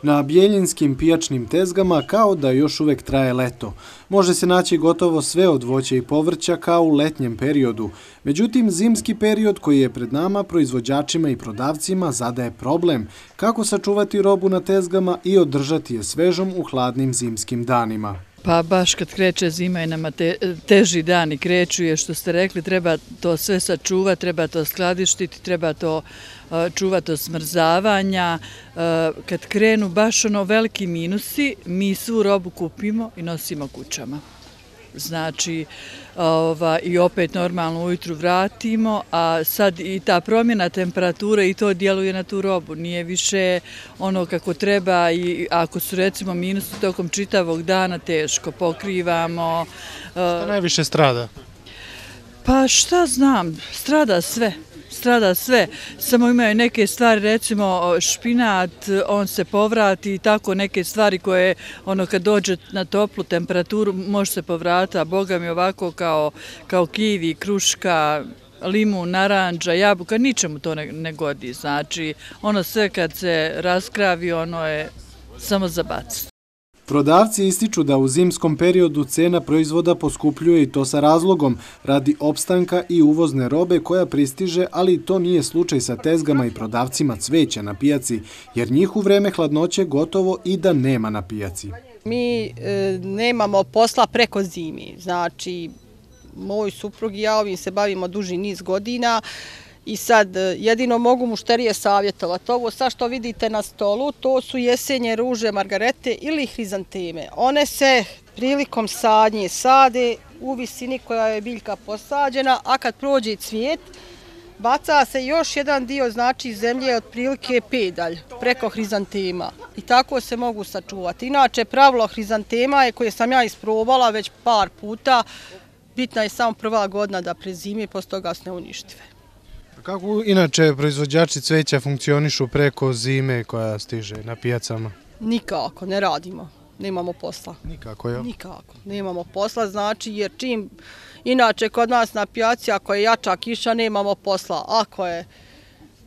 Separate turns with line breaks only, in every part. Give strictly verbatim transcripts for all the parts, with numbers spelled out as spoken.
Na bijeljinskim pijačnim tezgama kao da još uvek traje leto. Može se naći gotovo sve od voća i povrća kao u letnjem periodu. Međutim, zimski period koji je pred nama proizvođačima i prodavcima zadaje problem kako sačuvati robu na tezgama i održati je svežom u hladnim zimskim danima.
Pa baš kad kreće zima i nama te, teži dani kreću je što ste rekli, treba to sve sačuvati, treba to skladištiti, treba to uh, čuvati od smrzavanja. Uh, kad krenu baš ono veliki minusi, mi svu robu kupimo i nosimo kućama. Znači, ova, i opet normalno ujutru vratimo, a sad i ta promjena temperature i to djeluje na tu robu. Nije više ono kako treba i ako su recimo minusi tokom čitavog dana teško pokrivamo.
Šta najviše strada?
Pa šta znam, strada sve. Strada sve, samo imaju neke stvari, recimo špinat, on se povrati i tako neke stvari koje ono kad dođe na toplu temperaturu može se povrati, a boga mi ovako kao, kao kivi, kruška, limun, naranđa, jabuka, ničemu to ne, ne godi. Znači, ono sve kad se raskravi, ono je samo za baciti.
Prodavci ističu da u zimskom periodu cena proizvoda poskupljuje i to sa razlogom radi opstanka i uvozne robe koja pristiže, ali to nije slučaj sa tezgama i prodavcima cveća na pijaci, jer njih u vreme hladnoće gotovo i da nema na pijaci.
Mi e, nemamo posla preko zimi, znači moj suprug i ja ovim se bavimo duži niz godina. I sad jedino mogu mušterije savjetovati. Ovo sad što vidite na stolu, to su jesenje ruže, margarete ili hrizanteme. One se prilikom sadnje sade u visini koja je biljka posađena, a kad prođe cvijet, baca se još jedan dio, znači zemlje otprilike pedalj preko hrizantema. I tako se mogu sačuvati. Inače, pravilo hrizantema je koje sam ja isprobala već par puta, bitna je samo prva godina da prezimi, posle toga se ne uništive.
Kako inače proizvođači cveća funkcionišu preko zime koja stiže na pijacama?
Nikako, ne radimo, nemamo posla.
Nikako, jel?
Nikako, nemamo posla, znači jer čim, inače kod nas na pijaci ako je jača kiša nemamo posla, ako je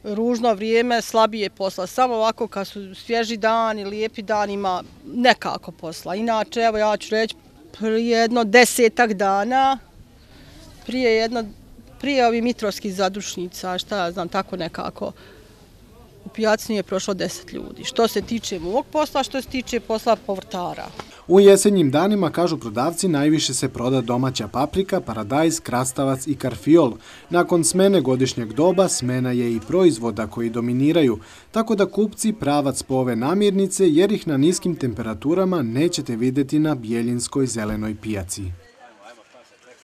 ružno vrijeme slabije posla, samo ovako kad su svježi dani, lijepi dan ima nekako posla. Inače, evo ja ću reći, prije jedno desetak dana, prije jedno Prije ovih mitrovskih zadušnica, šta ja znam, tako nekako, u pijaci nije prošlo deset ljudi. Što se tiče mog posla, što se tiče posla povrtara.
U jesenjim danima, kažu prodavci, najviše se proda domaća paprika, paradajz, krastavac i karfiol. Nakon smene godišnjeg doba, smena je i proizvoda koji dominiraju, tako da kupci pravac po ove namirnice jer ih na niskim temperaturama nećete vidjeti na bijeljinskoj zelenoj pijaci.